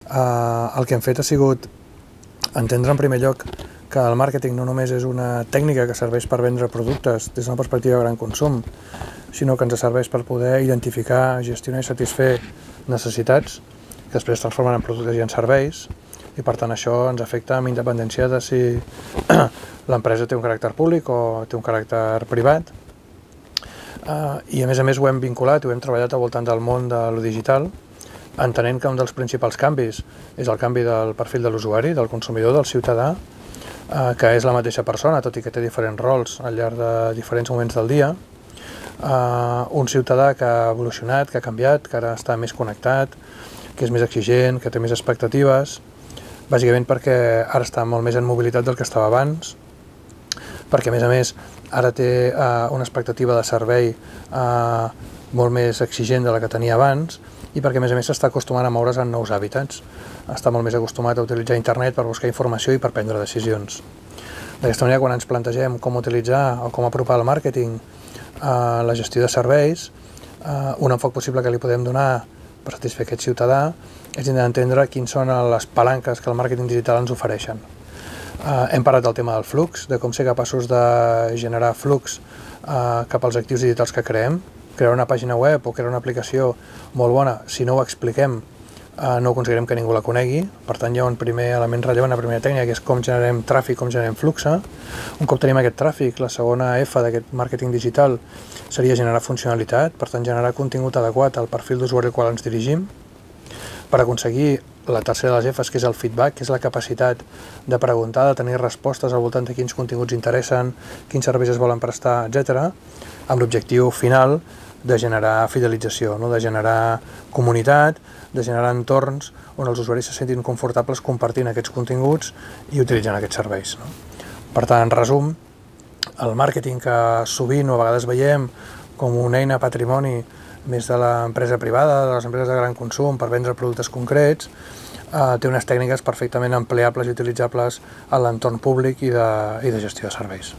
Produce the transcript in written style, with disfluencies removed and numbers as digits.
El que hem fet ha sigut entendre en primer lloc que el màrqueting no només és una tècnica que serveix per vendre productes des d'una perspectiva de gran consum, sinó que ens serveix per poder identificar, gestionar i satisfer necessitats que després es transformen en productes i en serveis, i per tant això ens afecta amb independència de si l'empresa té un caràcter públic o té un caràcter privat. I a més ho hem vinculat i ho hem treballat al voltant del món de lo digital, entenent que un dels principals canvis és el canvi del perfil de l'usuari, del consumidor, del ciutadà, que és la mateixa persona, tot i que té diferents rols al llarg de diferents moments del dia. Un ciutadà que ha evolucionat, que ha canviat, que ara està més connectat, que és més exigent, que té més expectatives, bàsicament perquè ara està molt més en mobilitat del que estava abans, perquè a més ara té una expectativa de servei molt més exigent de la que tenia abans, i perquè a més s'està acostumant a moure's en nous hàbitats. Està molt més acostumat a utilitzar internet per buscar informació i per prendre decisions. D'aquesta manera, quan ens plantegem com utilitzar o com apropar el màrqueting a la gestió de serveis, un enfoc possible que li podem donar per satisfer aquest ciutadà és d'entendre quins són les palanques que el màrqueting digital ens ofereixen. Hem parlat del tema del flux, de com ser capaços de generar flux cap als actius digitals que creem. Crear una pàgina web o crear una aplicació molt bona, si no ho expliquem, no aconseguirem que ningú la conegui. Per tant, hi ha un primer element rellevant, una primera tècnica, que és com generem tràfic, com generem flux. Un cop tenim aquest tràfic, la segona F d'aquest màrqueting digital seria generar funcionalitat, per tant, generar contingut adequat al perfil d'usuari al qual ens dirigim, per aconseguir la tercera de les Fs, que és el feedback, que és la capacitat de preguntar, de tenir respostes al voltant de quins continguts interessen, quins serveis es volen prestar, etc., amb l'objectiu final de generar fidelització, de generar comunitat, de generar entorns on els usuaris se sentin confortables compartint aquests continguts i utilitzant aquests serveis. Per tant, en resum, el màrqueting que sovint o a vegades veiem com una eina patrimoni més de l'empresa privada, de les empreses de gran consum per vendre productes concrets, té unes tècniques perfectament empleables i utilitzables en l'entorn públic i de gestió de serveis.